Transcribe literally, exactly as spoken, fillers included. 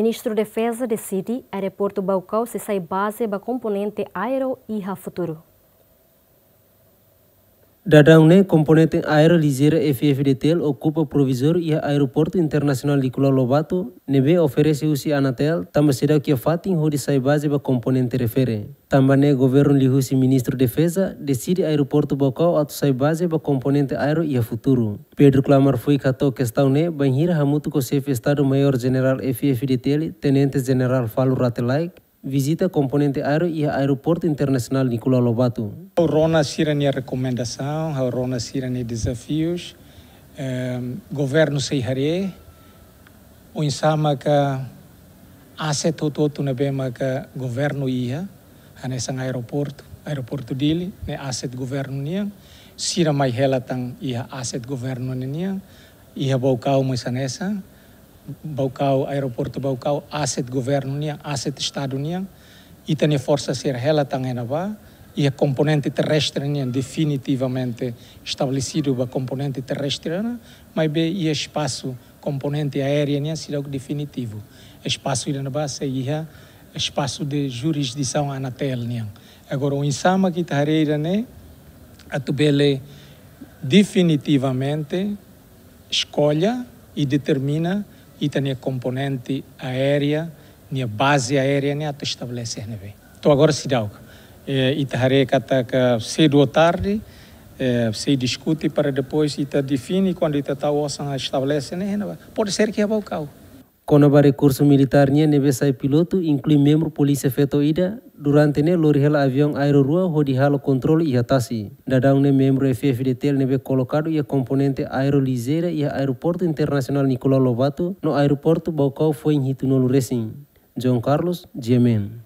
Ministru Defeza deside Aeroportu Baucau sei sai baze ba komponente aéreu iha futuru. Daudaun ne'e, komponente aéreu lijeira F F D T L okupa provizóriu iha Aeroportu Internasionál Nicolau Lobato, ne'ebé oferese husi Anatel, tanba seidauk iha fatin hodi sai baze ba komponente refere. Tanba ne'e, governu liuhusi Ministru Defeza deside Aeroportu Baucau atu sai baze ba komponente aéreu iha futuru. Pedro Klamar foin hato'o kestaun ne'e bainhira hamutuk ho Xefe Estadu Maiór Jenerál F F D T L, Tenente Jenerál Falur Rate Laek, vizita komponente aéreu iha Aeroportu Internasionál Nicolau Lobato. Ha'u rona sira-nia rekomendasaun, ha'u rona sira-nia dezafius. Ehm, governu sei haree oinsá maka aset hotu-hotu ne'ebé maka governu iha, hanesan aeroportu, Aeroportu Dili, ne'e aset governu nian, sira mai hela tan iha aset governu nian, iha Baucau mós hanesan, Baucau, Aeroportu Baucau, aset governu nian, aset Estadu nian, ita-nia forsa sira hela tan iha ne'ebá, iha komponente terrestre nian definitivamente estabelesidu ba komponente terrestre nian, maibé iha espasu komponente aérea nian seidauk definitivu. Espasu ida-ne'ebá sei iha espasu de jurisdisaun Anatel nian. Agora, oinsá maka ita haree ida-ne'e, atu bele definitivamente eskolla i determina ita-nia komponente aérea, nia baze aérea nian atu estabelese iha ne'ebé. To'o agora seidauk. Eh, ita haree katak sedu ou tarde, eh, sei diskute para depois ita define kuandu ita tau osan estabelese ne'e, ne'ebá. Pode ser ke iha Baucau. Kona-ba rekursu militár nian ne'ebé sai pilotu, inklui membru polísia feto ida, durante ne'e lori hela aviaun aéreu rua hodi halo kontrolu iha tasi. Daudaun ne'e membru F F D T L ne'ebé kolokadu iha komponente aéreu lijeira iha Aeroportu Internasionál Nicolau Lobato no Aeroportu Baucau foin hitunulu resin. João Carlos, G M N.